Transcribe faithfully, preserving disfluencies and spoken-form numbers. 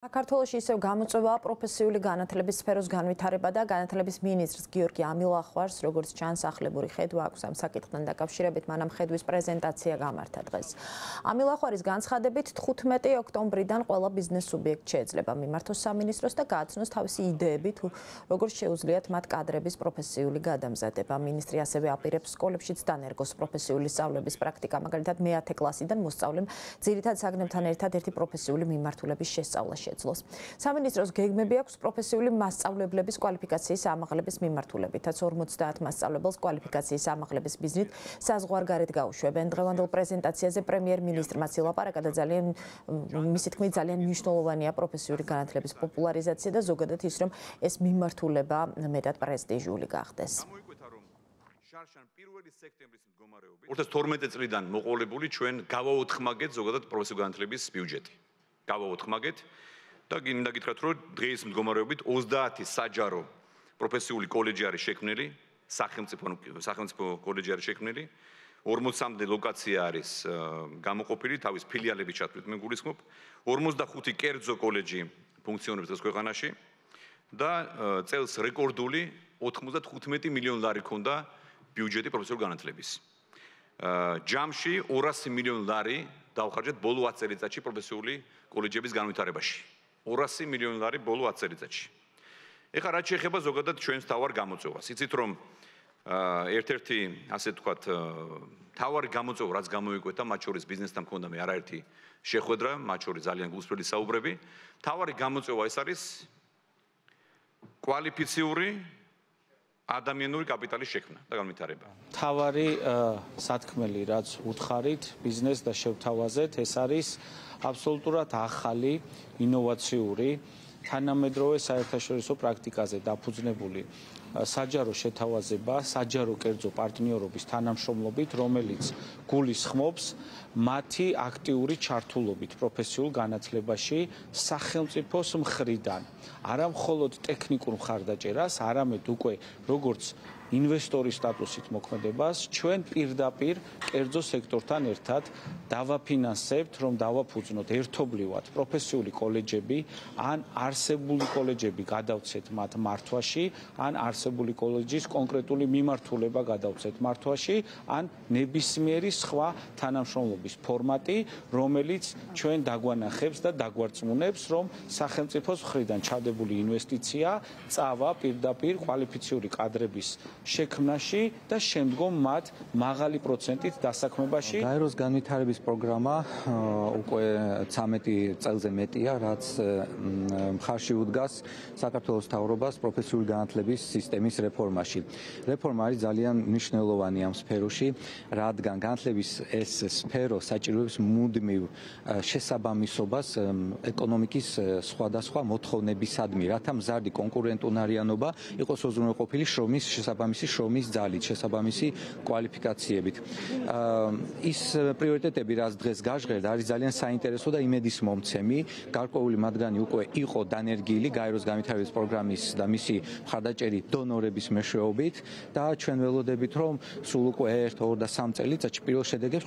საქართველოში ისევ გამოწვევა პროფესიული განათლების სფეროს განვითარება და განათლების მინისტრს გიორგი ამილახვარს, როგორც ჩანს, ახლებური ხედვა აქვს ამ საკითხთან დაკავშირებით, მანამ ხედვის პრეზენტაცია გამართა დღეს. ამილახვარის განცხადებით, თხუთმეტი ოქტომბრიდან ყველა ბიზნეს სუბიექტს შეეძლება მიმართოს სამინისტროს და გააცნოს თავისი იდეები, თუ როგორ შეუძლიათ მათ კადრების პროფესიული გადამზადება. მინისტრი ასევე აპირებს სკოლებშიც დანერგოს პროფესიული სწავლების პრაქტიკა, მაგალითად მეათე კლასიდან მოსწავლემ ძირითად საგნებთან ერთად ერთი პროფესიული მიმართულების შესწავლა შეძლოს. სამინისტროს გეგმები აქვს პროფესიული მასწავლებლების კვალიფიკაციის ამაღლების მიმართულებითაც ორმოცდაათ მასწავლებელს კვალიფიკაციის ამაღლების ბიზნით საზღვარგარეთ გაუშვებენ. დღევანდელ პრეზენტაციაზე პრემიერ-მინისტრმა ილაპარაკა და ძალიან მისი თქმით ძალიან მნიშვნელოვანია პროფესიული განათლების პოპულარიზაცია და ზოგადად ის რომ ეს მიმართულება მეტად პრესტიჟული გახდეს. ორი ათას თორმეტი წლიდან მოყოლებული ჩვენ გავაოთხმაგეთ ზოგადად პროფესიული განათლების ბიუჯეტი. გავაოთხმაგეთ და გინდა გითხრათ რომ დღეს მდგომარეობით ოცდაათი საჯარო პროფესიული კოლეჯი არის შექმნილი, სახელმწიფო სახელმწიფო კოლეჯი არის შექმნილი, ორმოცამდე ლოკაცია არის გამოყოფილი, თავის ფილიალების ჩათვლით მე გულისხმობ, ორმოცდახუთი კერძო კოლეჯი ფუნქციონირებს დღეს ქვეყანაში და წელს რეკორდული ოთხმოცდათხუთმეტი მილიონი ლარი ქონდა ბიუჯეტი პროფესიული განათლების. ჯამში ორასი მილიონი ლარი დავხარჯეთ ბოლო ათ წელიწადში პროფესიული კოლეჯების განვითარებაში. ორასი მილიონი ლარი ბოლო ათ წელიწადში. ეხლა რაც შეეხება ზოგადად ჩვენს თავარ გამოწვევას. იცით რომ ერთ-ერთი ასე ვთქვათ თავარი გამოწვევა რაც გამოიკვეთა, მათ შორის ბიზნესთან მქონდა მე არაერთი შეხვედრა, მათ შორის ძალიან გულსწრფელი საუბრები. თავარი გამოწვევა ეს არის კვალიფიციური ადამიანური კაპიტალის შექმნა და განვითარება. თავარი სათქმელი რაც უთხარით ბიზნეს და შევთავაზეთ, ეს არის აბსოლუტურად ახალი, ინოვაციური, თანამედროვე საერთაშორისო პრაქტიკაზე დაფუძნებული საჯარო შეთავაზება, საჯარო კერძო პარტნიორობის თანამშრომლობით, რომელიც გულისხმობს მათი აქტიური ჩართულობით პროფესიულ განათლებაში სახელმწიფოს მხრიდან. არა მხოლოდ ტექნიკურ მხარდაჭერას, არამედ უკვე როგორც ინვესტორის სტატუსით მოქმედებას ჩვენ პირდაპირ კერძო სექტორთან ერთად დავაფინანსებთ, რომ დავაფუძნოთ ერთობლივად პროფესიული კოლეჯები, ან არსებული კოლეჯები გადავცეთ მათ მართვაში, ან არსებული კოლეჯის კონკრეტული მიმართულება გადავცეთ მართვაში, ან ნებისმიერი სხვა თანამშრომლობის ფორმატი, რომელიც ჩვენ დაგვანახებს და დაგვარწმუნებს, რომ სახელმწიფოს მხრიდან ჩადებული ინვესტიცია წავა პირდაპირ კვალიფიციური კადრების შექმნაში და შემდგომ მათ მაღალი პროცენტით დასაქმებაში. გაეროს განვითარების პროგრამა უკვე ცამეტი წელზე მეტია, რაც მხარში უდგას საქართველოს მთავრობას პროფესიული განათლების სისტემის რეფორმაში. რეფორმა არის ძალიან მნიშვნელოვანი ამ სფეროში, რადგან განათლების ეს სფერო საჭიროებს მუდმივ შესაბამისობას ეკონომიკის სხვადასხვა მოთხოვნებისადმი, რათა მზარდი კონკურენტუნარიანობა იყოს უზრუნველყოფილი შრომის შესაბამისად შრომის ძალით, შესაბამისი კვალიფიკაციებით. ის პრიორიტეტები, რაც დღეს გაჟღერდა, არის ძალიან საინტერესო და იმედისმომცემი. გარკვეული მათგანი უკვე იყო დანერგილი გაეროს განვითარების პროგრამის და მისი მხარდაჭერი დონორების მეშვეობით და ჩვენ ველოდებით, რომ სულ უკვე ერთ, ორ და სამ წელიწადში პირველ შედეგებს